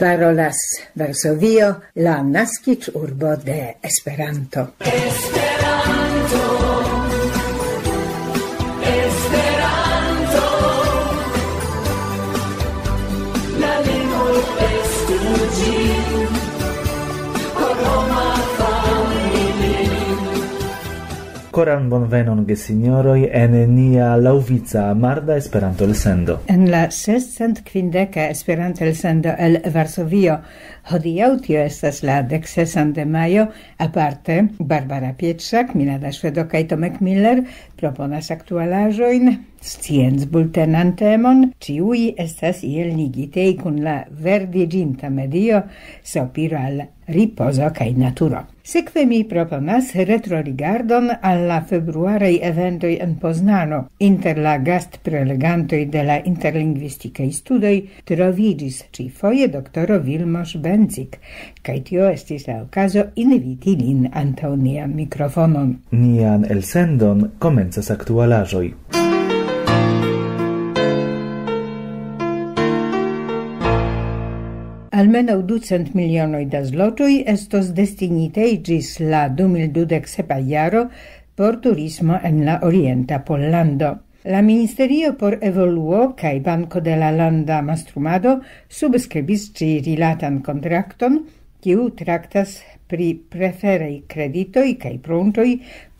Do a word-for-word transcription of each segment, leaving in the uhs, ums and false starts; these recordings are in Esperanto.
Parolas Varsovio, la naskiĝurbo de Esperanto. Esperanto, Esperanto, la lingvo estu ĝi, por homa familio. Koran bonvenon, gesinjoroj, en nia laŭvica marda Esperanto-elsendo. En la sescent kvindeka Esperanto-elsendo el Varsovio. Hodiaŭ tio estas la dek sesan de majo. Aparte, Barbara Pietrzak, Milada Ŝvedo kaj Tomek Miller proponas aktualaĵojn, sciencbultenan temon. Ĉiuj estas iel ligitej kun la verdiĝinta medio, sopiro al ripozo kaj naturo. Sekve mi proponas retrorigardon al la februaraj eventoj en Poznano. Inter la gastprelegantoj de la interlingvistikaj studoj troviĝis ĉifoje doktoro Vilmos Bencik, kaj tio estis la okazo inviti lin antaŭ nian mikrofonon. Nian elsendon komencas aktualaĵoj. Almenaŭ ducent milionoj da zlotoj estos destinitaj ĝis la du mil dudek sepa jaro por turismo en la orienta Pollando. La Ministerio por Evoluo kaj Banko de la Landa Mastrumado subskribis ĉi rilatan kontrakton, kiu traktas pri preferaj kreditoj kaj pruntoj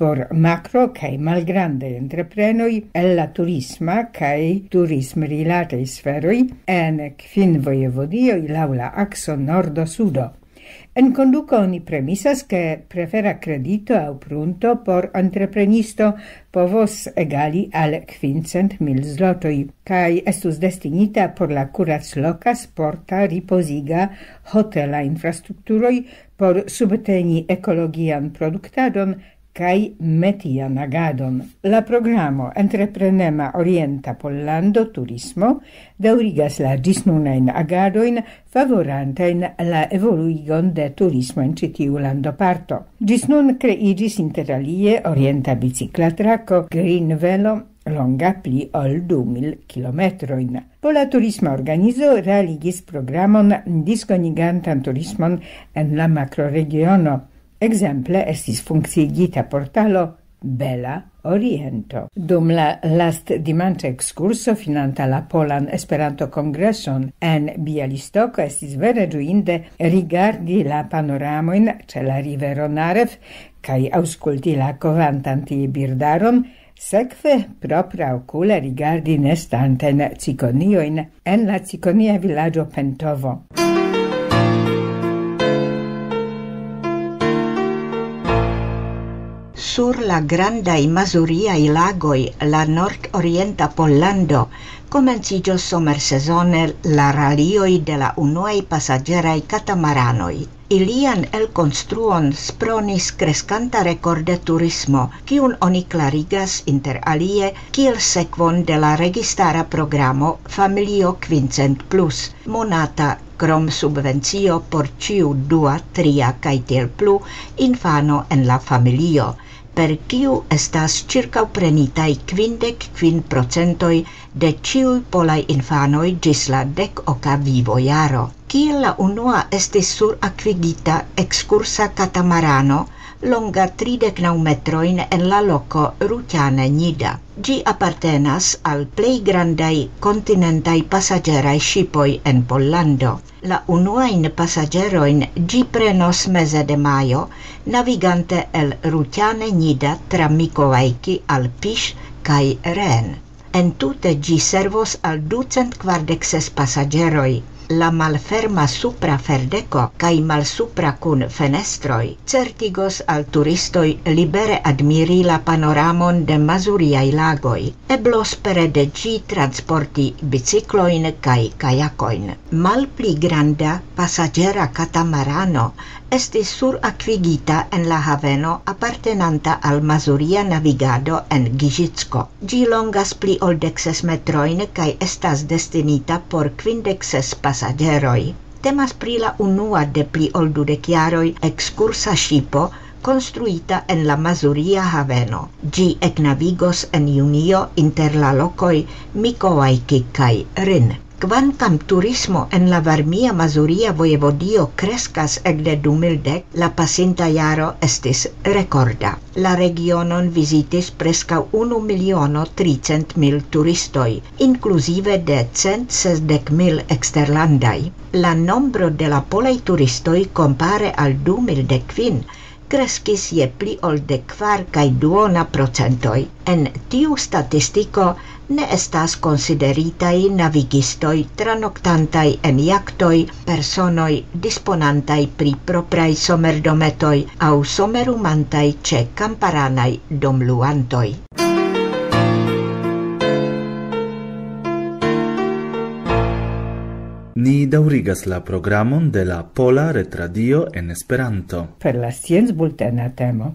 por makro- kaj malgrandaj entreprenoj el la turisma kaj turismrilataj sferoj en kvin vojevodioj laŭ la akso nordo-sudo. En konduko oni premisas, ke prefera kredito aŭ prunto por entreprenisto povos egali al kvincent mil zlotoj, kaj estus destinita por la kuracloka sporta ripoziga hotela infrastrukturoj por subteni ekologian produktadon kaj metian agadon. La programo Entreprenema Orienta Pollando Turismo daŭrigas la ĝisnunajn agadojn, favorantajn la evoluigon de turismo en ĉi tiu landoparto. Ĝis nun kreiĝis inter alie orienta bicikla trako Green Velo, longa pli ol du mil kilometrojn. Pola turisma organizo realigis programon diskonigantan turismon en la makroregiono. Ekzemple estis funkciigita portalo Bela Oriento. Dum la lastdimanĉa ekskurso finanta la Polan Esperanto-Kongreson en Bialystoko estis vere ĝuinde rigardi la panoramojn ĉe la rivero Narev kaj aŭskulti la kovantan tie birdaron, sekve propraokule rigardi nestantajn cikoniojn en la cikonia vilaĝo Pentovo. Sur la grandaj Mazuriaj lagoj, la nordorienta Pollando, komenciĝos somersezone la ralioj de la unuaj pasaĝeraj katamaranoj. Ilian elkonstruon spronis kreskanta rekorde turismo, kiun oni klarigas inter alie kiel sekvon de la registara programo Familio Kvincent Plus, monata krom subvencio por ĉiu dua, tria kaj tiel plu infano en la familio, per kiu estas ĉirkaŭprenitaj kvindek kvin procentoj de ĉiuj polaj infanoj ĝis la dek oka vivojaro. Kiel la unua estis surakvigita ekskursa katamarano, longa tridek naŭ metrojn en la loko Rutiane Nida. Ĝi apartenas al plej grandaj kontinentaj pasaĝeraj ŝipoj en Pollando. La unuajn pasaĝerojn ĝi prenos meze de majo, navigante el Rutiane Nida tra Mikołajki al Pisz kaj Ren. Entute ĝi servos al ducent kvardek ses pasaĝeroj. La malferma supra ferdeko kaj malsupra kun fenestroj certigos al turistoj libere admiri la panoramon de Mazuriaj lagoj. Eblos pere de ĝi transporti biciklojn kaj kajakojn. Malpli granda pasaĝera katamarano estis surakvigita en la haveno apartenanta al Mazuria Navigado en Giĝicko. Ĝi longas pli ol dek ses metrojn kaj estas destinita por kvindek ses pasaĝeroj. Temas pri la unua de pli ol dudek jaroj ekskursa ŝipo konstruita en la Mazuria haveno. Ĝi eknavigos en junio inter la lokoj Mikołajki kaj Rin. Kvankam turismo en la Varmia Mazuria Vojevodio kreskas ekde du mil dek, la pasinta jaro estis rekorda. La regionon vizitis preskaŭ unu miliono tricent mil turistoj, inkluzive de cent sesdek mil eksterlandaj. La nombro de la polaj turistoj kompare al du mil dek kvin kreskis je pli ol de kvar kaj duona procentoj. En tiu statistiko ne estas konsideritaj navigistoj tranoktantaj en jaktoj, personoj disponantaj pri propraj somerdometoj aŭ somerumantaj ĉe kamparanaj domluantoj. Ni daŭrigas la programon de la Pola Retradio en Esperanto. Per la sciencbultena temo.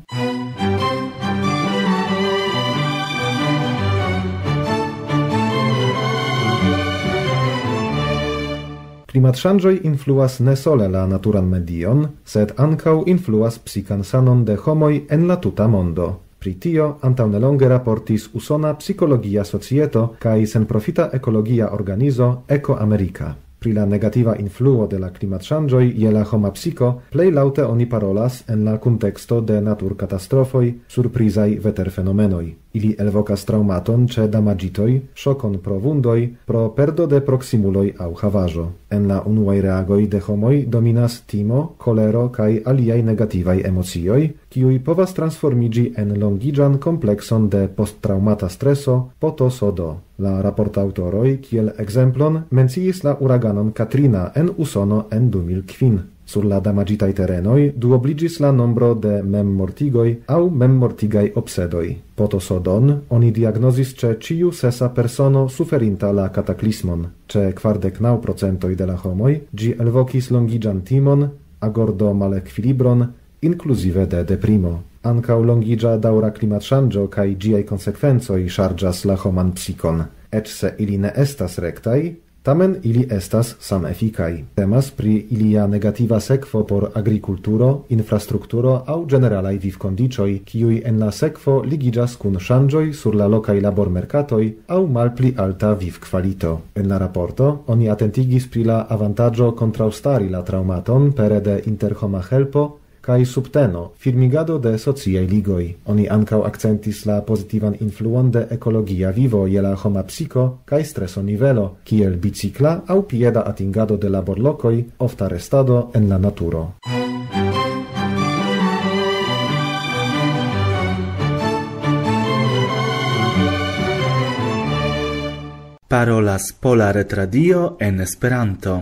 Klimatŝanĝoj influas ne sole la naturan medion, sed ankaŭ influas psikan sanon de homoj en la tuta mondo. Pri tio antaŭnelonge raportis Usona Psikologia Societo kaj senprofita ekologia organizo Eko Amerika. Pri la negativa influo de la klimatŝanĝoj je la homa psiko plej laŭte oni parolas en la kunteksto de naturkatastrofoj, surprizaj veterfenomenoj. Ili elvokas traŭmaton ĉe damaĝitoj, ŝokon pro vundoj, pro perdo de proksimuloj aŭ havaĵo. En la unuaj reagoj de homoj dominas timo, kolero kaj aliaj negativaj emocioj, kiuj povas transformiĝi en longiĝan komplekson de posttraŭmata streso, P T S D. La raportaŭtoroj, kiel ekzemplon, menciis la uraganon Katrina en Usono en du mil kvin. Sur la damaĝitaj terenoj duobliĝis la nombro de memmortigoj aŭ memmortigaj obsedoj. P T S D-n oni diagnozis ĉe ĉiu sesa persono suferinta la kataklismon. Ĉe kvardek naŭ procentoj de la homoj ĝi elvokis longiĝan timon, agordo-malekvilibron, inkluzive de deprimo. Ankaŭ longiĝa daŭra klimatŝanĝo kaj ĝiaj konsekvencoj ŝarĝas la homan psikon. Eĉ se ili ne estas rektaj, tamen ili estas samefikaj. Temas pri ilia negativa sekvo por agrikulturo, infrastrukturo aŭ ĝeneralaj vivkondiĉoj, kiuj en la sekvo ligiĝas kun ŝanĝoj sur la lokaj labormerkatoj aŭ malpli alta vivkvalito. En la raporto oni atentigis pri la avantaĝo kontraŭstari la traŭmaton pere de interhoma helpo, kaj subteno, firmigado de sociaj ligoj. Oni ankaŭ akcentis la pozitivan influon de ekologia vivo je la homa psiko kaj streso nivelo, kiel bicikla aŭ pieda atingado de laborlokoj, ofta restado en la naturo. Parolas Pola Retradio en Esperanto.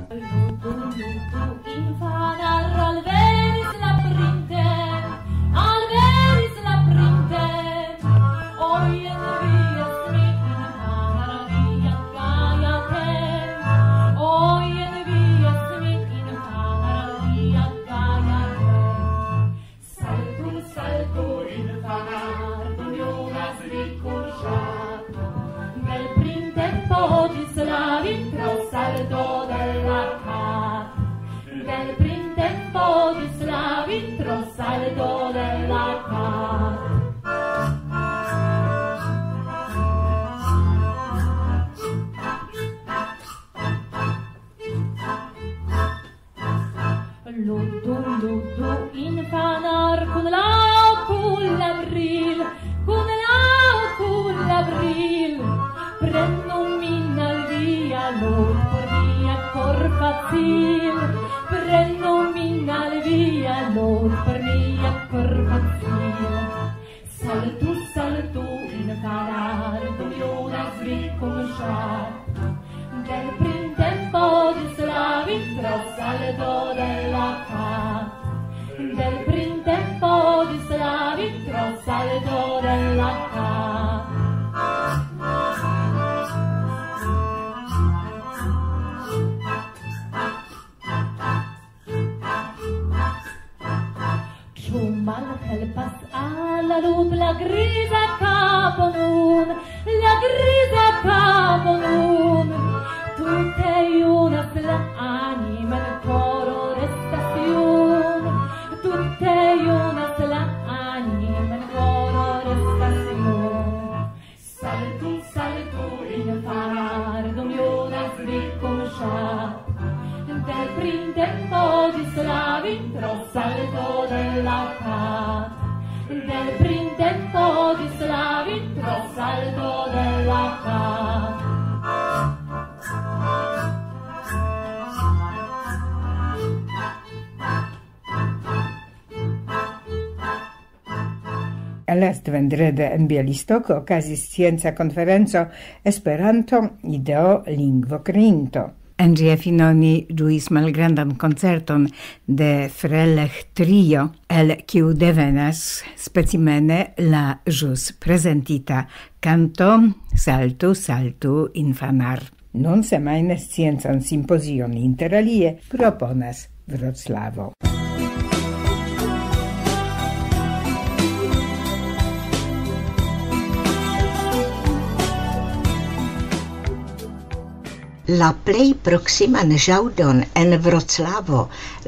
Tempo di slavi pro salto della cat. Del printempo di slavi pro salto della cat. Last vendrede en Bialystok okazis scienca konferenco Esperanto, ideo, lingvo kreinto. En ĝia fino ni ĝuis malgrandan koncerton de Frelech Trio, el kiu devenas specimene la ĵus prezentita kanto Saltu, saltu, infanar. Nun semajne sciencan simpozion, inter alie proponas Wroclawo. La plej proksiman ĵaŭdon en Vroclavo,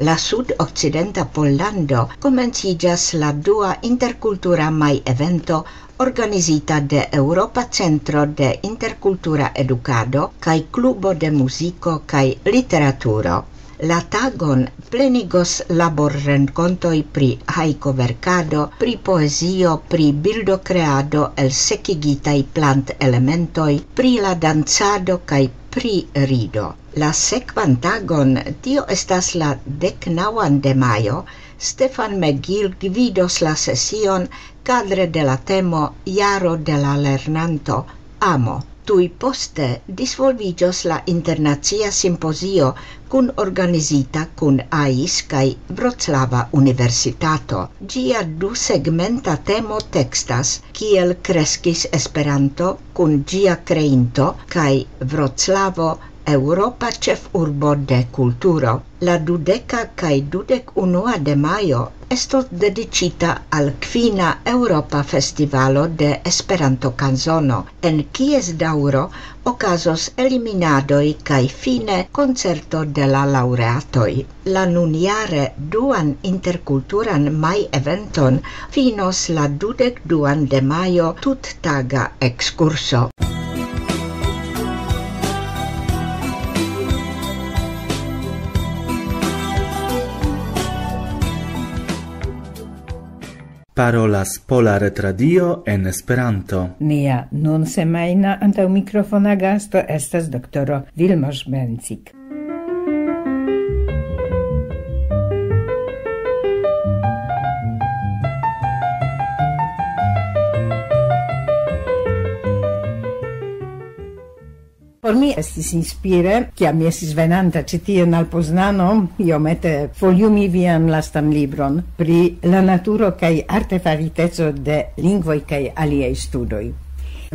la sudokcidenta Pollando, komenciĝas la dua interkultura maj-evento organizita de Eŭropa Centro de Interkultura Edukado kaj Klubo de Muziko kaj Literaturo. La tagon plenigos laborrenkontoj pri hajko-verkado, pri poezio, pri bildokreado el sekigitaj plantelementoj, pri la dancado kaj pri rido. La sekvan tagon, tio estas la deknaŭan de majo, Stefan McGill gvidos la sesion kadre de la temo Jaro de la Lernanto, amo. Tuj poste disvolviĝos la internacia simpozio kun organizita kun ais kaj Vroclava Universitato. Ĝia dusegmenta temo tekstas kiel kreskis Esperanto kun ĝia kreinto kaj Vroclavo, Eŭropa ĉefurbo de kulturo. La dudeka kaj dudek unua de majo estos dediĉita al kvina Eŭropa Festivalo de Esperanto-kanzono, en kies daŭro okazos eliminadoj kaj fine koncerto de la laŭreatoj. La nunjare duan interkulturan maj-eventon finos la dudek duan de majo tuttaga ekskurso. Parolas Pola Retradio en Esperanto. Nia nun semajna antaŭ mikrofona gasto estas doktoro Vilmos Bencik. Por mi estis inspire, kiam mi estis venanta ĉi tien al Poznano, iomete foliumi vian lastan libron pri la naturo kaj artefariteco de lingvoj kaj aliaj studoj.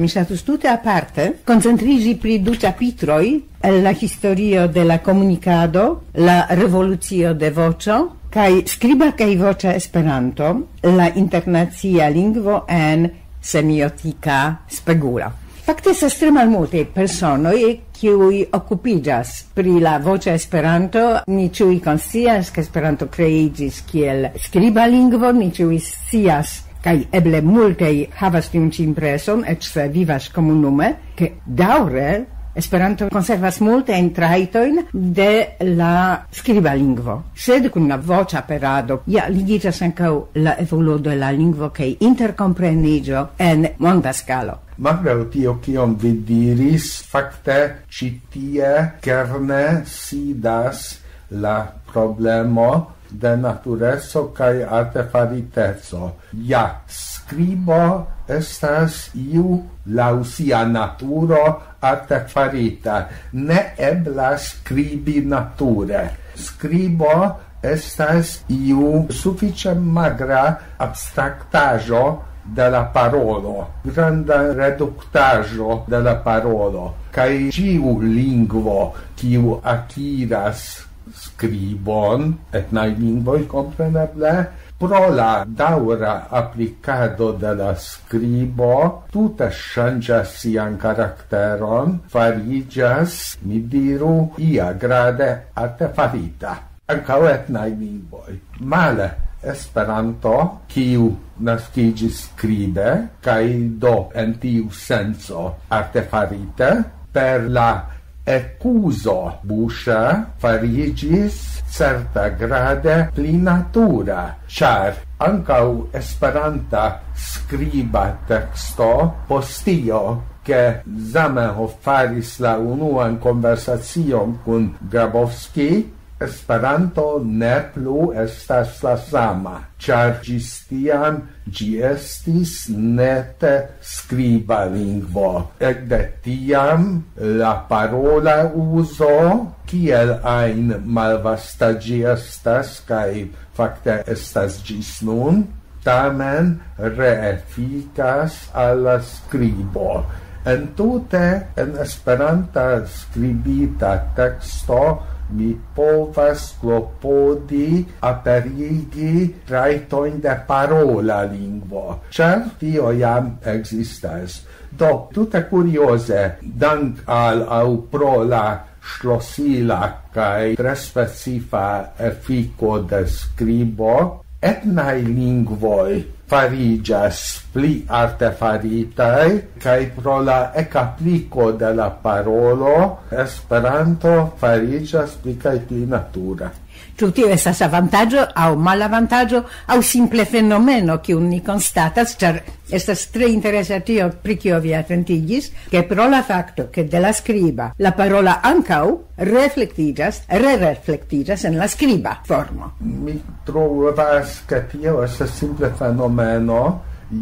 Mi ŝatus tute aparte koncentriĝi pri du ĉapitroj el la historio de la komunikado, la revolucio de voĉo, kaj skriba kaj voĉa Esperanto, la internacia lingvo en semiotika spegula. Fakte estas tre malmulte personoj, kiuj okupiĝas pri la voĉa Esperanto. Ni ĉiuj konscias, ke Esperanto kreiĝis kiel skriba lingvo, ni ĉiuj scias, kaj eble multaj havas tiun ĉi impreson, eĉ se vivas komunume, ke daŭre Esperanto konservas multajn trajtojn de la skriba lingvo. Sed kun la voĉa aperado ja ligiĝas ankaŭ la evoluo de la lingvo kaj interkompreniĝo en monda skalo. Malgraŭ tio, kion vi diris, fakte ĉi tie kerne sidas la problemo de natureco kaj artefariteco. Ja, skribo estas iu laŭ sia naturo artefarita. Ne eblas skribi nature. Skribo estas iu sufiĉe magra abstraktaĵo de la parolo, granda reduktaĵo de la parolo, kaj ĉiu lingvo, kiu akiras skribon, etnaj lingvoj kompreneble, pro la daŭra aplikado de la skribo tute ŝanĝas sian karakteron, fariĝas, mi diru, ia grade artefarita. Ankaŭ etnaj lingvoj. Male Esperanto, kiu naskiĝis skribe, kaj do en tiu senco artefarite, per la Ekuzo buŝa fariĝis certa grade pli natura, ĉar ankaŭ esperanta skriba teksto postio, ke Zamenhof faris la unuan konversacion kun Grabowski, Esperanto ne plu estas la sama, ĉar ĝis tiam ĝi estis nete skriba lingvo. Ekde tiam la parola uzo, kiel ajn malvasta ĝi estas, kaj fakte estas ĝis nun, tamen reefikas al la skribo. Entute en Esperanta skribita teksto mi povas klopodi aperigi trajtojn de parola lingvo, ĉar tio jam ekzistas. Do, tute kurioze, dank al aŭ pro la ŝlosila kaj tre specifa efiko de skribo, etnaj lingvoj fariĝas pli arte faritaj, kaj pro la ekapliko de la parolo, Esperanto fariĝas pli kaj pli natura. Ĉu tio estas avantaĝo aŭ malavantaĝo aŭ simple fenomeno, kiun ni konstatas, ĉar estas tre interesa tio, pri kio vi atentigis, ke pro la fakto, ke de la skriba la parola ankaŭ reflektiĝas, rereflektiĝas en la skriba formo? Mi trovas, ke tio estas simple fenomeno.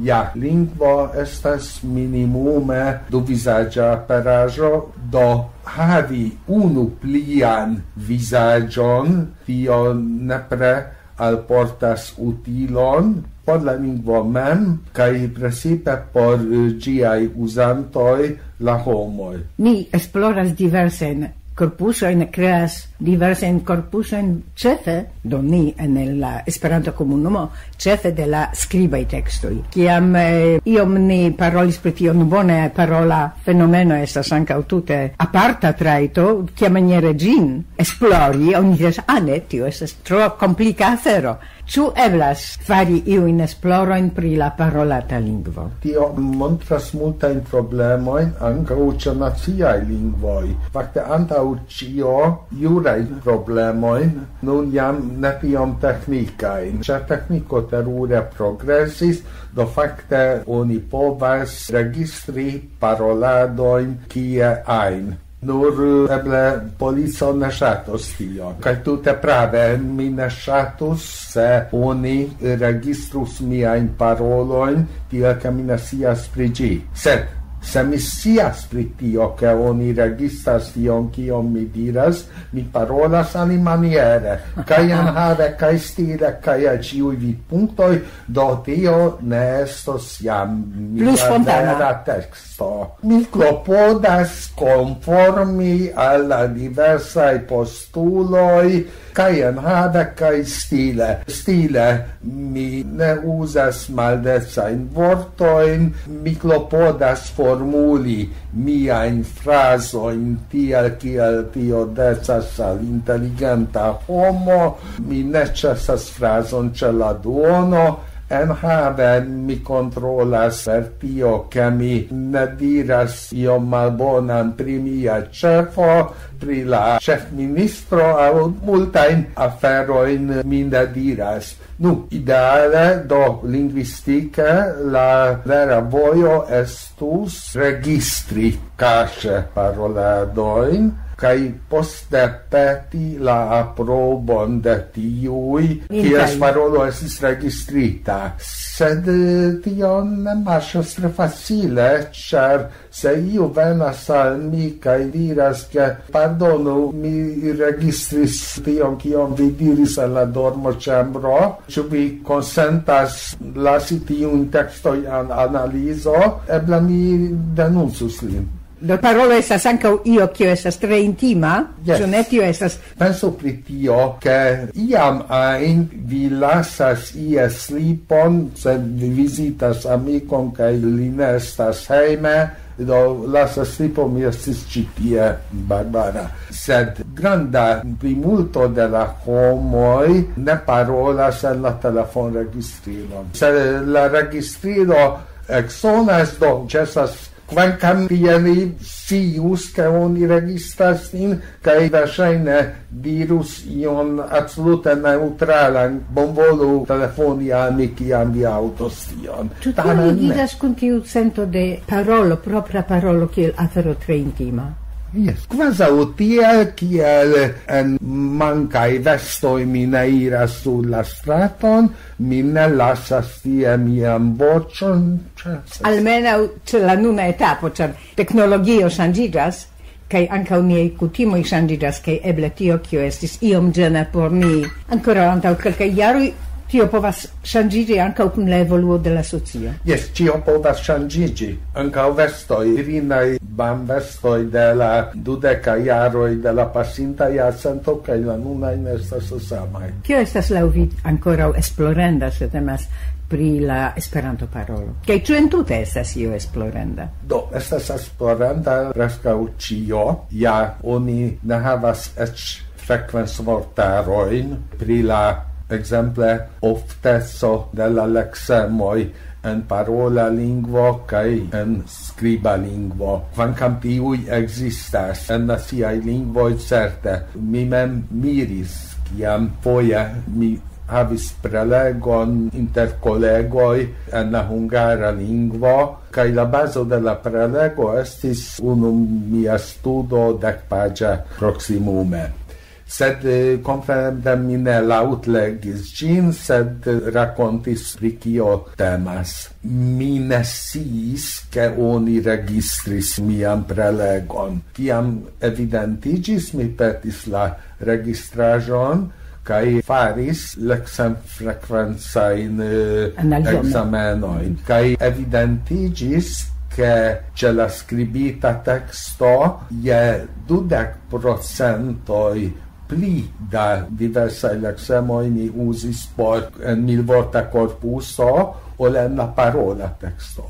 Ja, lingvo estas minimume duvizaĝa aperaĵo, do havi unu plian vizaĝon, tio nepre alportas utilon por la lingvo mem, kaj precipe por, eh, ĝiaj uzantoj, la homoj. Ni esploras diversajn korpusojn, kreas diversajn korpusojn, ĉefe, do ni en la Esperanto-komunumo, ĉefe de la skribaj tekstoj. Kiam, eh, iom ni parolis pri tio, nu bone, parola fenomeno estas ankaŭ tute aparta trajto, kiamaniere ĝin esplori, oni diras, "Ah, ne, tio estas tro komplika afero." Ĉu eblas fari iujn esplorojn pri la parolata lingvo? Tio montras multajn problemojn, ankaŭ ĉe naciaj lingvoj. Fakte, antaŭ ĉio, jurajn problemojn, nun jam ne tiom teknikajn. Ĉar tekniko terure progresis, do fakte oni povas registri paroladojn kie ajn. Nur eble polico ne ŝatos tion. Kaj tute prave, mi ne ŝatus, se oni registrus miajn parolojn, tiel ke mi ne scias pri ĝi. Sed se mi scias pri tio, ke oni registras tion, kion mi diras, mi parolas alimaniere, kaj enhave, kaj stile, kaj al ĉiuj vidpunktoj, do tio ne estos jam mia vera teksto. Mi klopodas konformi al la diversaj postuloj, kaj enhave, kaj stile. Stile, mi ne uzas maldecajn vortojn, mi klopodas formuli miajn frazojn tiel, kiel tio decas al inteligenta homo, mi ne ĉesas frazon ĉe la duono, enhave mi kontrolas per tio, ke mi ne diras iom malbonan pri mia ĉefo, pri la ĉefministro, aŭ multajn aferojn mi ne diras. Nu, ideale, do lingvistike la vera vojo estus registri kaŝe paroladojn, kaj poste peti la aprobon de tiuj, kies parolo estis registrita. Sed, eh, tio ne marŝas tre facile, ĉar se iu venas al mi kaj diras, ke, "Pardonu, mi registris tion, kion vi diris en la dormoĉambro, ĉu vi konsentas lasi tiujn tekstojn al analizo?", eble mi denuncus lin. Do, parolo estas ankaŭ io, kio estas tre intima, Jes. Ĉu ne? Tio estas. Pensu pri tio, ke iam ajn vi lasas ies lipon, se vi vizitas amikon kaj li ne estas hejme, do lasas lipon, mi estis ĉi tie, Barbara. Sed granda plimulto de la homoj ne parolas en la telefonregistrilon. Se la registrilo eksonas, do ĉesas Kvankam tiel vi scius, ke oni registras nin, kaj verŝajne dirus ion absolute neŭtralan, bonvolu telefoni al mi, kiam vi aŭdos tion. Ĉu tio Tamen ne. Ligiĝas kun tiu sento de parolo, propra parolo, kiel afero tre intima? Jes, kvazaŭ tiel, kiel en mankaj vestoj mi ne iras sur la straton, mi ne lasas tie mian voĉon, ĉesis. Almenaŭ ĉe la nuna etapo, ĉar teknologio ŝanĝiĝas, kaj ankaŭ niaj kutimoj ŝanĝiĝas, kaj eble tio, kio estis iom ĝena por ni ankoraŭ antaŭ kelkaj jaroj, tio povas ŝanĝiĝi ankaŭ kun la evoluo de la socio. Jes, ĉio povas ŝanĝiĝi. Ankaŭ vestoj, virinaj bambvestoj de la dudeka jaroj de la pasinta jarcento, kaj la nunaj ne estas samaj. Kio estas laŭ vi ankoraŭ esplorenda, se temas pri la Esperanto-parolo? Kaj ĉu entute estas io esplorenda? Do, estas esplorenda preskaŭ ĉio. Ja, oni ne havas eĉ frekvencvortarojn pri la, ekzemple, ofteco de la leksemoj en parola lingvo kaj en skriba lingvo. Kvankam tiuj ekzistas en naciaj lingvoj, certe, mi mem miris, kiam foje mi havis prelegon inter kolegoj en la hungara lingvo, kaj la bazo de la prelego estis unu mia studo dekpaĝa proksimume. Sed, eh, kompreneble mi ne laŭtlegis ĝin, sed rakontis, pri kio temas. Mi ne sciis, ke oni registris mian prelegon. Kiam evidentiĝis, mi petis la registraĵon kaj faris leksemfrekvencajn, eh, Analizojn. Ekzamenojn. Kaj evidentiĝis, ke ĉe la skribita teksto je dudek procentoj pli da diversaj leksemoj mi uzis por en milvorta korpuso ol en la parola teksto.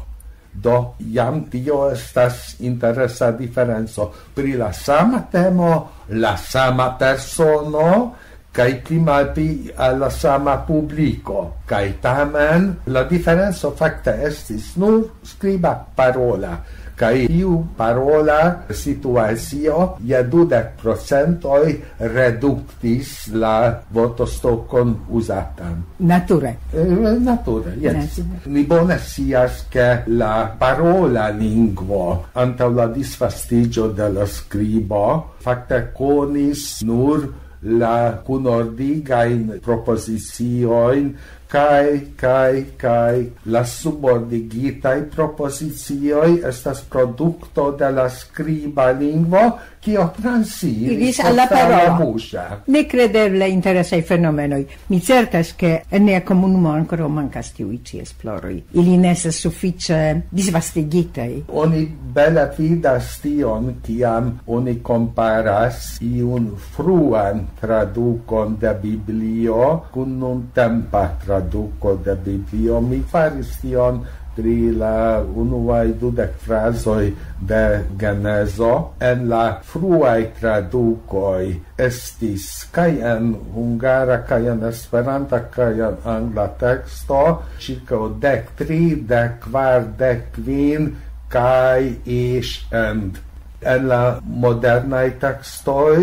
Do, jam tio estas interesa diferenco. Pri la sama temo, la sama persono, kaj pli malpli al la sama publiko. Kaj tamen, la diferenco fakte estis nur skriba parola. Kaj tiu parola situacio je dudek procentoj reduktis la vortostokon uzatan. Nature. Eh, nature, jes. Nature. Ni bone scias, ke la parola lingvo antaŭ la disvastiĝo de la skribo fakte konis nur la kunordigajn propoziciojn kaj, kaj, kaj la subordigitaj propozicioj estas produkto de la skriba lingvo, kio transiris Iris al la al la parola. Buŝa. Nekredeble interesaj fenomenoj. Mi certas, ke en nia komunumo ankoraŭ mankas tiuj ĉi esploroj. Ili ne estas sufiĉe disvastigitaj. Oni bele vidas tion, kiam oni komparas iun fruan tradukon de Biblio kun nuntempa traduko de Biblio. Mi faris tion pri la unuaj dudek frazoj de Genezo. En la fruaj tradukoj estis kaj en hungara, kaj en esperanta, kaj en angla teksto, ĉirkaŭ dek tri, dek kvar, dek kvin, kaj ish and. En la modernaj tekstoj,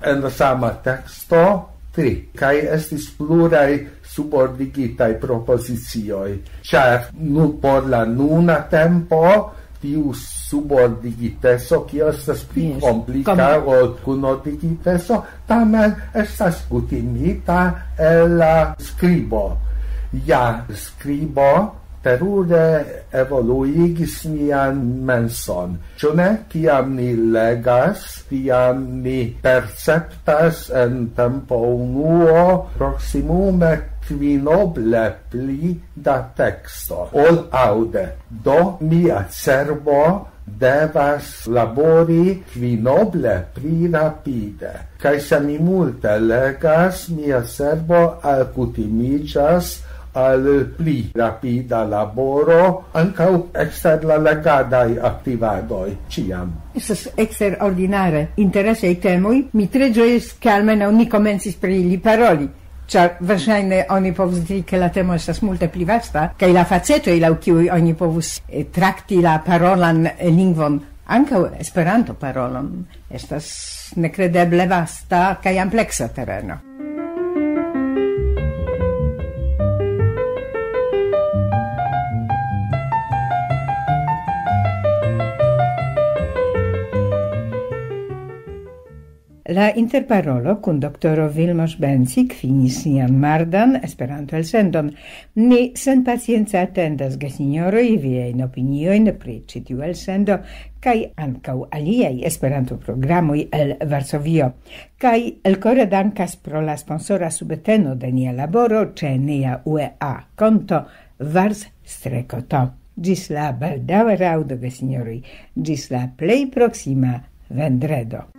en la sama teksto, tri. Kaj estis pluraj subordigitaj propozicioj, ĉar nur por la nuna tempo tiu subordigiteco, kio estas pli Yes. komplika Kom- ol kunordigiteco, tamen estas kutimita el la skribo. Ja, skribo terure evoluigis nian menson. Ĉu ne? Kiam ni legas, tiam ni perceptas en tempo unuo proksimume kvinoble pli da teksto ol aŭde. Do mia cerbo devas labori kvinoble pli rapide. Kaj se mi multe legas, mia cerbo alkutimiĝas al pli rapida laboro, ankaŭ ekster la legadaj aktivadoj, ĉiam. Estas eksterordinare interesaj temoj. Mi tre ĝojis, ke almenaŭ ni komencis pri ili paroli. Ĉar verŝajne oni povus diri, ke la temo estas multe pli vasta, kaj la facetoj, laŭ kiuj oni povus eh, trakti la parolan eh, lingvon, ankaŭ Esperanto-parolon, estas nekredeble vasta kaj ampleksa tereno. La interparolo kun doktoro Vilmos Bencik finis nian mardan Esperanto-elsendon. Ni senpacience atendas, gesinjoroj, viajn opiniojn pri ĉi tiu elsendo kaj ankaŭ aliaj Esperanto-programoj el Varsovio. Kaj elkore dankas pro la sponsora subteno de nia laboro ĉe nia U E A konto vars-streco to. Ĝis la baldaŭa raŭdo, gesinjoroj, ĝis la plej proksima vendredo.